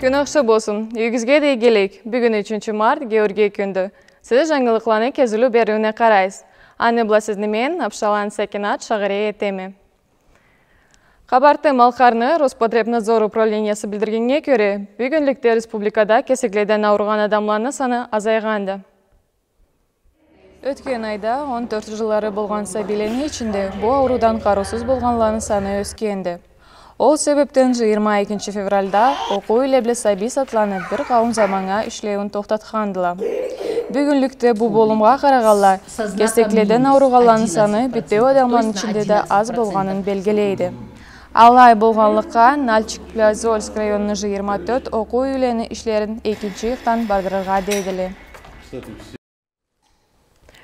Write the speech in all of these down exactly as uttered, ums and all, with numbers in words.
Кюн ахшы болсун. Юйюгюзге да игилик. Бюгюн ючюнчю март, Георгий кюндю. Сиз жангылыкъланы кезиулю бериуюне къарайсыз. Аны бла сизни мен, Апшаланы Сакинат, шагъырей этеме. Къабарты-Малкъарны Роспотребнадзор управлениясы билдиргеннге кёре, бюгюнлюкде республикада кесекледен ауругъан адамланы саны азайгъанды. Ётген айда он тёрт жыллары болгъан сабийлени ичинде бу ауруудан къарыусуз болгъанланы саны ёсгенди. Ол себепден жыйырма экинчи февралда окъуу юйле бла сабий сатланы бир къауум заманнга ишлеуюн тохтатхандыла. Бюгюнлюкде бу болумгъа къарагъанлай, кесекледен ауругъанланы саны битеу адамланы ичинде да аз болгъанын белгилейди. Алай болгъанлыкъгъа, Нальчик бла Зольск районну жыйырма тёрт окъуу юйлени ишлерин экинчи ыйыкъдан бардырыргъа дейдиле.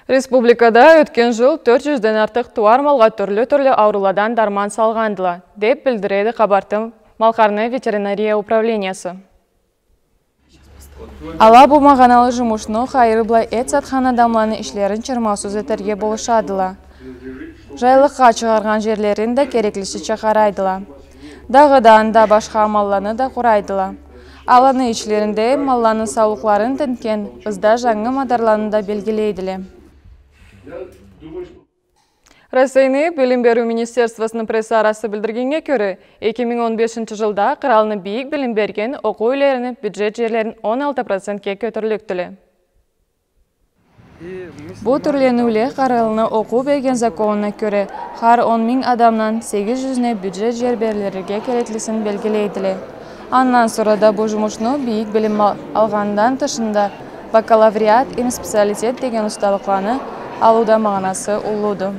Республикада ётген жыл тёрт жюзден артыкъ тууар малгъа тюрлю-тюрлю аурууладан дарман салгъандыла, деп билдиреди Къабарты-Малкъарны ветеринария управлениясы. Ала бу магъаналы жумушну хайыры бла эт сатхан адамланы ишлерин чырмаусуз этерге болушадыла. Жайлыкъгъа чыгъаргъан жерлерин да кереклисича къарайдыла. Дагъыда анда башха амалланы да къурайдыла. Аланы ичлеринде малланы саулукъларын тинтген ызда жангы мадарланы да белгилейдиле. Россияны Билим бериу министерствосуну пресс-арасы билдиргеннге кёре, эки минг он бешинчи жылда къыралны бийик билим берген окъуу юйлерини бюджет жерлерин он алты процентге кётюрлюкдюле. Бу тюрлениуле къыралны окъуу берген законуна кёре, хар он минг адамдан сегиз жюзюне бюджет жер берилирге кереклисин белгилейдиле. Андан сора да бу жумушну бийик билим ал-, алгъандан тышында бакалавриат, эм специалитет деген усталыкъланы алыуда магъанасы уллуду.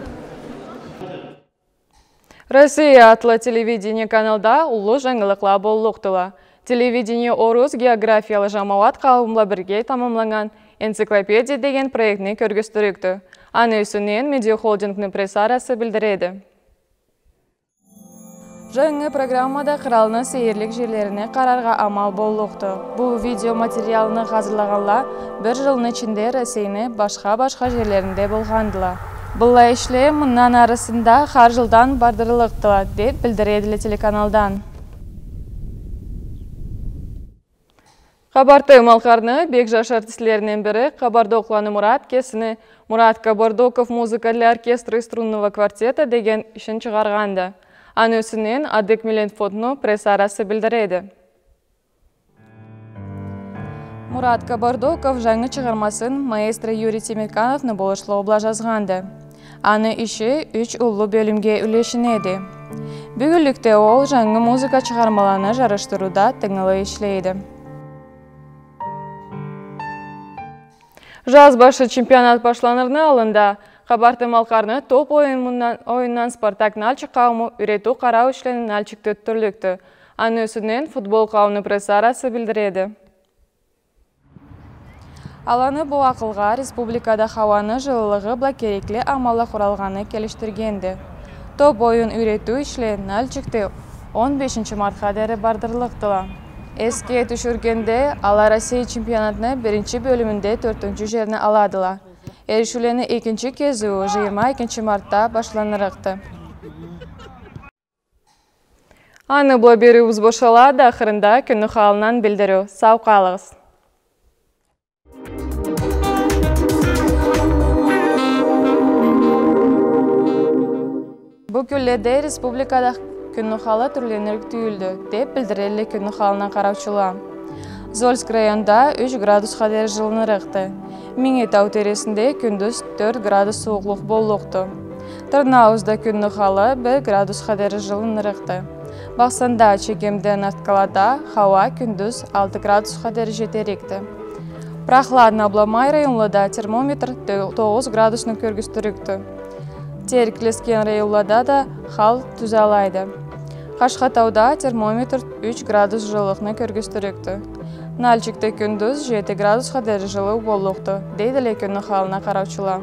«Россия» атлы телевидение каналда уллу жангылыкъла боллукъдула. Телевидение орус географиялы жамауат къауумла бирге тамамланнган «Энциклопедия» деген проектни кёргюзтюрюкдю. Аны юсюнден Медиахолдингни пресс-арасы билдиреди. Жангы программада къыралны сейирлик жерлерине къараргъа амал боллукъду. Бу видеоматериалны хазырлагъанла бир жылны ичинде Россияны башха-башха жерлеринде болгъандыла. Быллай ишле мындан арысында хар жылдан бардырыллыкъдыла, деп билдиредиле телеканалдан. Къабарты-Малкъарны бек жаш артистлеринден бири Къабардокъланы Мурат кесини «Мурат Кабардоков: музыка для оркестра и струнного квартета» деген ишин чыгъаргъанды. Аны юсюнден Адык миллет фондуну пресс-арасы билдиреди. Мурат Кабардоков жангы чыгъармасын маэстро Юрий Темиркановну болушлугъу бла жазгъанды. Аны иши юч уллу бёлюмге юлешинеди. Бюгюнлюкде ол жангы музыка чыгъармаланы жарышдырыуда тынгылы ишлейди. Жаз башы чемпионат башланырны аллында Къабарты-Малкъарны топ оюнундан, оюнундан «Спартак» Нальчик къаууму юйретиу-къарау ишлени Нальчикде ётдюрлюкдю. Аны юсюнден футбол къауумуну пресс-арасы билдиреди. Аланы бу акъылгъа республикада хауаны жылылыгъы бла керекли амалла къуралгъаны келишдиргенди. Топ оюн юйретиу ишле Нальчикде он бешинчи мартха дери бардырыллыкъдыла. Эсге тюшюргенде, ала Россия чемпионатны биринчи бёлюмюнде тёртюнчю жерни аладыла. Эришиулени экинчи кезиую жыйырма экинчи мартда башланырыкъды. Аны бла бериуюбюз бошалады, ахырында кюнню халындан билдириу. Сау къалыгъыз. Бу кюнледе республикада кюнню халы тюрленирик тюйюлдю, деп билдиредиле кюнню халына къараучула. Зольск районда юч градусха дери жылынырыкъды. Минги тау тересинде кюндюз тёрт градус сууукълукъ боллукъду. Тырныауузда кюнню халы бир градусха дери жылынырыкъды. Бахсанда, Чегемде, Нарткалада хауа кюндюз алты градусха дери жетерикди. Прохладно бла май районлада термометр то-, тогъуз градусну кёргюзтюрюкдю. Терк, Лескен районлада да хал тюзалайды. Къашхатауда термометр юч градус жылылыкъны кёргюзтюрюкдю. Нальчикде кюндюз жети градусха дери жылыу боллукъду, дейдиле кюнню халына къараучула.